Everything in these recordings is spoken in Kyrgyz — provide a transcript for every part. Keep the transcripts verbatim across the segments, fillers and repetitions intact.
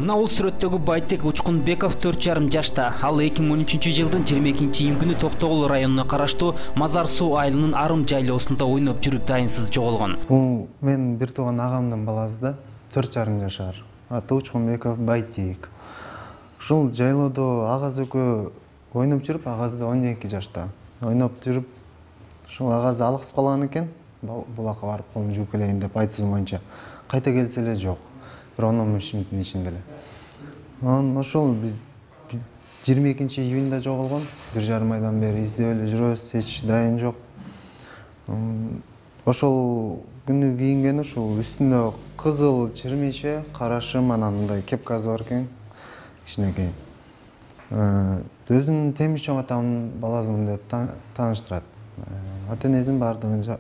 Мына бул сүрөттөгү Байтек Учкунбеков төрт жарым жашта. Ал эки миң он үчүнчү жылдын жыйырма экинчи июнь Токтогул районуна караштуу Мазар суу айылынын Арым жайлоосунда ойноп жүрүп дайынсыз жоголгон. Бул мен бир тууган агамдын баласы да, төрт жарым жашар. Аты Учкунбеков Байтек. Ушул жайлоодо агасы экөө ойноп жүрүп, агасы да он эки жашта. Ойноп жүрүп, ушул агасы алыксып калган экен. Булакка барып колун жууп келейин деп айтуусу боюнча кайта келсе эле жок. Bir он он беш мүнөттүн ичинде эле. Анан ошол биз жыйырма экинчи июнда жоголгон. бир жарым айдан бери издеп эле жүрөбүз, эч дайын жок. Ошол күнү кийинген ушул үстүндө кызыл чирмеше, кара шым, анан мындай кепкасы бар экен. Кичинекей. Өзүнүн темир чоң атамдын баласымын деп тааныштырат. Ата-энесин бардыгын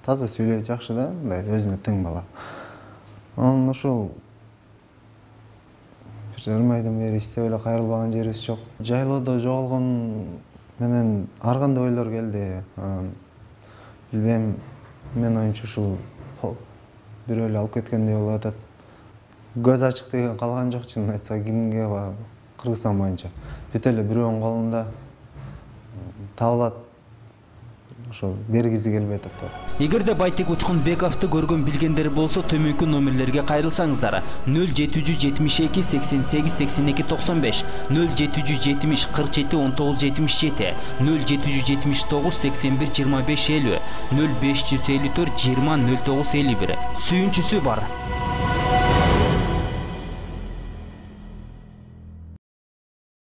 таза сүйлөйт, жакшы да, мындай өзүнө тең бала. Анан ошол бир жарым айдан бери издеп эле кайрылбаган жерибиз жок. Жайлоодо жоголгон менен ар кандай ойлор келди. Билбейм, мен оюмча ушул бирөө эле алып кеткендей болуп атат. Көз ачык деген калган жок, чынын айтса, кимге бар Кыргызстан боюнча. Бүт эле бирөөнүн колунда табылат. Ошо бергизи келбей атат. Эгерде Байтек Учкунбековду көргөн билгендер болсо, төмөнкү номерлерге кайрылсаңыздар. нөл жети жүз жетимиш эки сексен сегиз сексен эки токсон беш, нөл жети жүз жетимиш кырк жети он тогуз жетимиш жети, нөл жети жүз жетимиш тогуз сексен бир жыйырма беш элүү, нөл беш жүз элүү төрт жыйырма нөл тогуз элүү бир. Сүйүнчүсү бар.